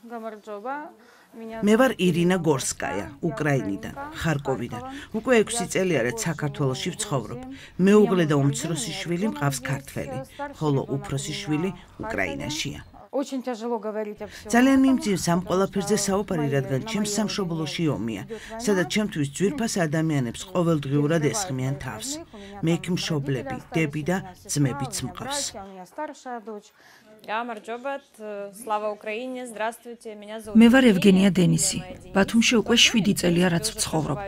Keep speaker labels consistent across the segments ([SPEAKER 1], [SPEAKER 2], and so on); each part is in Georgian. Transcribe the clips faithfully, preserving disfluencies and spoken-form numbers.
[SPEAKER 1] მე ვარ ირინა გორსკაია, უკრაინიდან, ხარკოვიდან. უკვე ექვსი წელია რაც საქართველოში ვცხოვრობ. მეუღლე და უმცროსი შვილი მყავს ქართველი, ხოლო უფროსი შვილი უკრაინაშია. ძალიან მიმძიმს ამ ყველაფერზე საუბარი, რადგან ჩემს სამშობლოში ომია, სადაც ჩემთვის ძვირფას ადამიანებს ყოველდღიურად ესხმიან თავს. მე იქ მშობლები, დები და ძმებიც მყავს.
[SPEAKER 2] მე ვარ ევგენია დენისი. ბათუმში უკვე შვიდი წელია რაც ვცხოვრობ.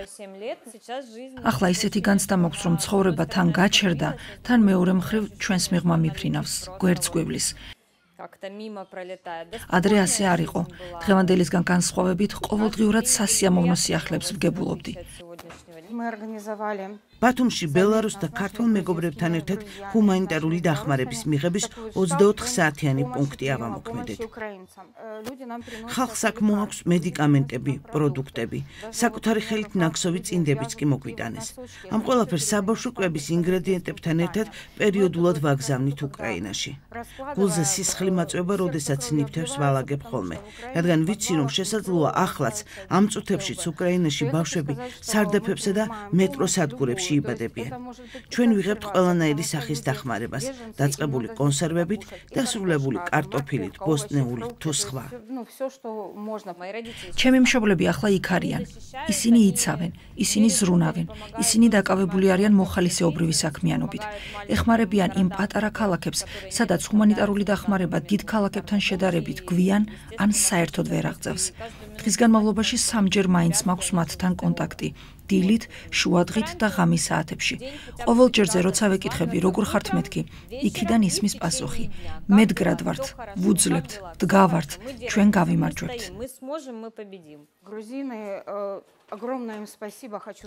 [SPEAKER 2] ახლა ისეთი განცდა მაქვს, რომ ცხოვრება თან გაჩერდა, თან მეორე მხრივ ჩვენს მიღმა მიფრინავს, გვერდს გვევლის. ადრე ასე არ იყო. დღევანდელისგან განსხვავებით ყოველდღიურად სასიამოვნო სიახლეებს ვგებულობდი.
[SPEAKER 1] ბათუმში ბელარუს და ქართველ მეგობრებთან ერთად ჰუმანიტარული დახმარების მიღების ოცდაოთხ საათიანი პუნქტი ავამოქმედეთ. ხალხს აქ მოაქვს მედიკამენტები, პროდუქტები, საკუთარი ხელით ნაქსოვი წინდებიც კი მოგვიტანეს. ამ ყველაფერს საბავშვო კვების ინგრედიენტებთან ერთად პერიოდულად ვაგზავნით უკრაინაში. გულზე სისხლი მაწვება, როდესაც ნიფთებს ვალაგებ ხოლმე, რადგან ვიცი, რომ შესაძლოა ახლაც ამ წუთებშიც უკრაინაში ბავშვები სარდაფებსა და მეტროსადგურებში იბადებიან. ჩვენ ვიღებთ ყველანაირი სახის დახმარებას, დაწყებული კონსერვებით, დასრულებული კარტოფილით, ბოსტნეულით თუ სხვა.
[SPEAKER 2] ჩემი მშობლები ახლა იქ არიან. ისინი იცავენ, ისინი ზრუნავენ, ისინი დაკავებული არიან მოხალისეობრივი საქმიანობით. ეხმარებიან იმ პატარა ქალაქებს, სადაც ჰუმანიტარული დახმარება დიდ ქალაქებთან შედარებით გვიან ან საერთოდ ვერ აღწევს. დღის განმავლობაში სამჯერ მაინც მაქვს მათთან კონტაქტი. დილით, შუადღით და ღამის საათებში. ყოველ ჯერზე როცა ვეკითხები, როგორ ხართ მეთქი, იქიდან ისმის პასუხი. მედგრად ვართ, ვუძლებთ, დგავართ, ჩვენ გავიმარჯვებთ.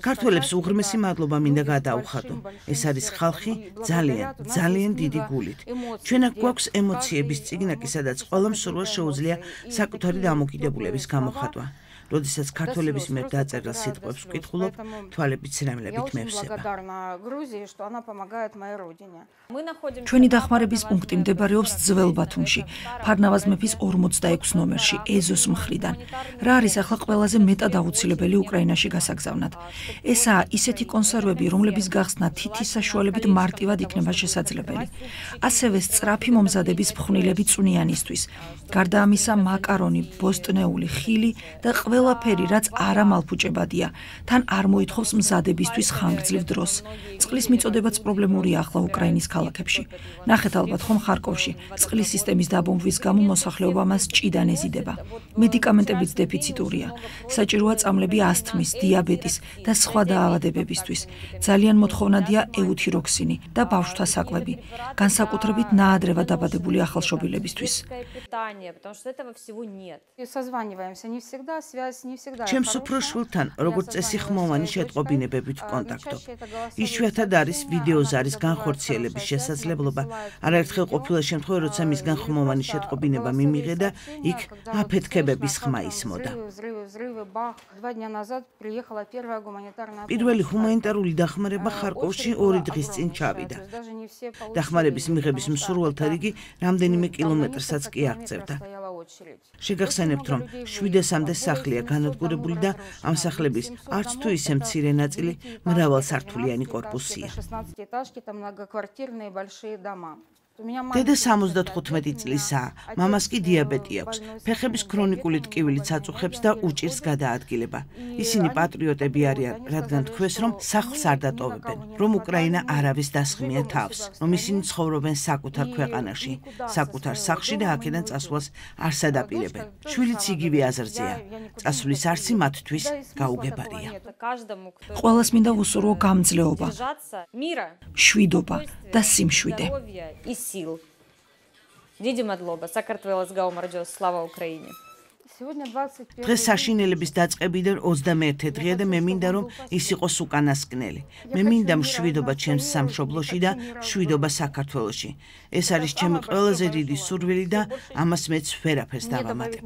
[SPEAKER 1] ქართველებს უღრმესი მადლობა მინდა გადაუხადო. ეს არის ხალხი ძალიან, ძალიან დიდი გულით. ჩვენ აქ გვაქვს ემოციების წიგნაკი, სადაც ყველამ სურვილს შეუძლია საკუთარი დამოკიდებულების გამოხატვა. როდესაც ქართველების მიერ დაწერილ სიტყვებს ვკითხულობ, თვალებით ცრემლებით მევსება.
[SPEAKER 2] ჩვენი დახმარების პუნქტი მდებარეობს ძველ ბათუმში, ფარნავაზ მეფის ორმოცდაექვსი ნომერში, ეზოს მხრიდან. რა არის ახლა ყველაზე მეტად აუცილებელი უკრაინაში გასაგზავნად? ესაა ისეთი კონსერვები, რომლების გახსნა თითის საშუალებით მარტივად იქნება შესაძლებელი. ასევე სწრაფი მომზადების ფხვნილები წვნიანისთვის. გარდა ამისა, მაკარონი, ბოსტნეული, ხილი და ყველაფერი, რაც არამალფუჭებადია, თან არ მოითხოვს მზადებისთვის ხანგრძლივ დროს. წყლის მიწოდებაც პრობლემურია ახლა უკრაინის ქალაქებში. ნახეთ ალბათ ხომ ხარკოვში, წყლის სისტემის დაბომბვის გამო მოსახლეობა მას ჭიდან ეზიდება. მედიკამენტებიც დეფიციტურია. საჭიროა წამლები ასთმის, დიაბეტის და სხვა დაავადებებისთვის. ძალიან მოთხოვნადია ეუთიროქსინი და ბავშვთა საკვები, განსაკუთრებით ნაადრევად დაბადებული ახალშობილებისთვის.
[SPEAKER 1] ჩემს უფრო შვილთან, როგორც წესი ხმოვანი შეტყობინებებით ვკონტაქტობ. იშვიათად არის ვიდეოზარის განხორციელების შესაძლებლობა. არაერთხელ ყოფილა შემთხვევა, როცა მისგან ხმოვანი შეტყობინება მიმიღე და იქ აფეთქებების ხმა ისმოდა. პირველი ჰუმანიტარული დახმარება ხარკოვში ორი დღის წინ ჩავიდა. დახმარების მიღების მსურველთა რიგი რამდენიმე კილომეტრსაც კი აღწევდა. შეგახსენებთ, რომ შვიდასამდე სახლია განადგურებული და ამ სახლების არც თუ ისე მცირე ნაწილი მრავალსართულიანი კორპუსია. დედა სამოცდათხუთმეტი წლისაა, მამას კი დიაბეტი აქვს, ფეხების ქრონიკული ტკივილიც აწუხებს და უჭირს გადაადგილება. ისინი პატრიოტები არიან, რადგან თქვეს, რომ სახლს არ დატოვებენ, რომ უკრაინა არავის დასხმია თავს, რომ ისინი ცხოვრობენ საკუთარ ქვეყანაში, საკუთარ სახლში და აქედან წასვლას არ სადაპირებენ. შვილიც იგივე აზრზეა. წასვლის არსი მათთვის გაუგებარია.
[SPEAKER 2] ყველას მინდა ვუსურვო გამძლეობა, შვიდობა და სიმშვიდე.
[SPEAKER 3] Сил. Დიდი მადლობა საქართველოს გაუმარჯოს, სლავა უკრაინე.
[SPEAKER 1] დღეს საშინელების დაწყებიდან ოცდამეერთე დღეა და მე მინდა რომ ის იყოს უკანასკნელი. მე მინდა მშვიდობა ჩემს სამშობლოში და მშვიდობა საქართველოში. ეს არის ჩემი ყველაზე დიდი სურვილი და ამას მეც ვერაფერს დავამატებ.